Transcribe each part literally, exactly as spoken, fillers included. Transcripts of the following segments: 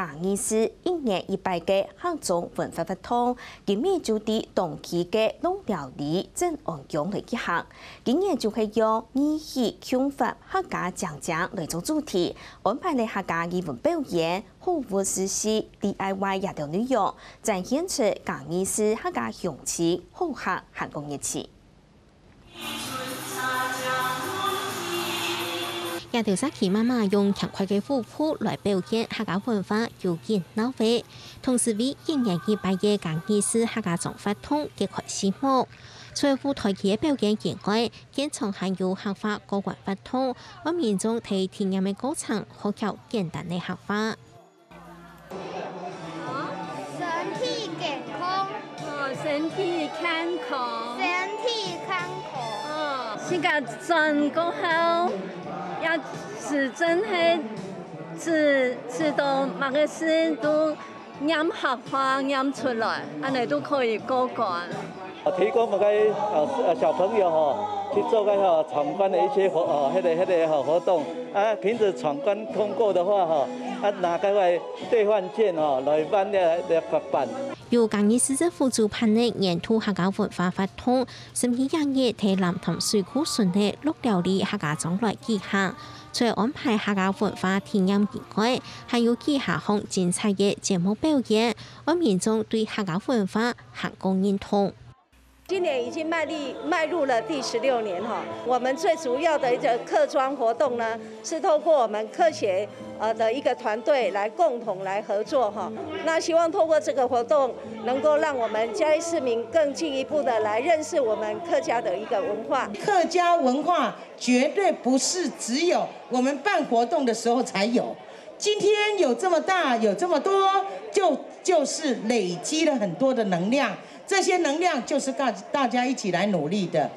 二四一年一擺个客庄文化活動，今晡日就在當地个鹿寮里鎮安宮來舉行。今年就係用義氣共活客家靚靚來做主題，安排了客家藝文表演、好物試食、D I Y這兜內容，展現出嘉義市客家鄉親好客還過熱情。 這兜社區媽媽用輕快个舞步來表現客家文化，有影鬧熱，同時為一年一擺个嘉義市客家庄活動揭開序幕。除了舞台劇个表演以外，現場還有客話過關活動，愛民眾在體驗个過程學曉簡單个客話。 身體健康，哦，身體健康，身體健康。哦，自家轉過後，也係真係試，試到麼个事都唸客話唸出來，恁呢都可以過關。 提供每个呃呃小朋友吼去做个吼參觀的一些活呃迄个迄个吼活动啊，凭着闯关通过的话吼，啊拿个兑换券吼来办个个办。由嘉義市政府主辦个年度客家文化活動，十二月日在南投水庫村个鹿寮里客家庄來舉行。除了安排客家文化體驗以外，還有幾下項精彩个節目表演， 愛民眾對客家文化還過認同。今年已經邁入，邁入了第十六年哈，我們最主要的一個客庄活動呢，是透過我們客協呃的一個團隊來共同來合作哈。那希望透過這個活動，能夠讓我們嘉義市民更進一步的來認識我們客家的一個文化。客家文化絕對不是只有我們辦活動的時候才有，今天有這麼大，有這麼多，就就是累積了很多的能量，這些能量就是大大家一起來努力的。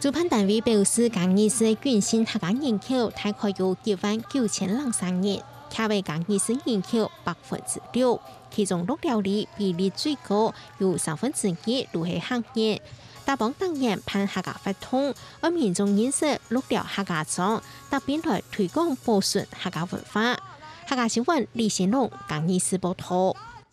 主辦單位表示，嘉義市个永續客家人口大概有一萬九千零三人，徛在嘉義市人口百分之六，其中鹿寮里比例最高，有三分之一都係客人。打幫逐年辦客家活動，愛民眾認識鹿寮客家庄，搭並來推廣保存客家文化。客家新聞李新龍，嘉義市報導。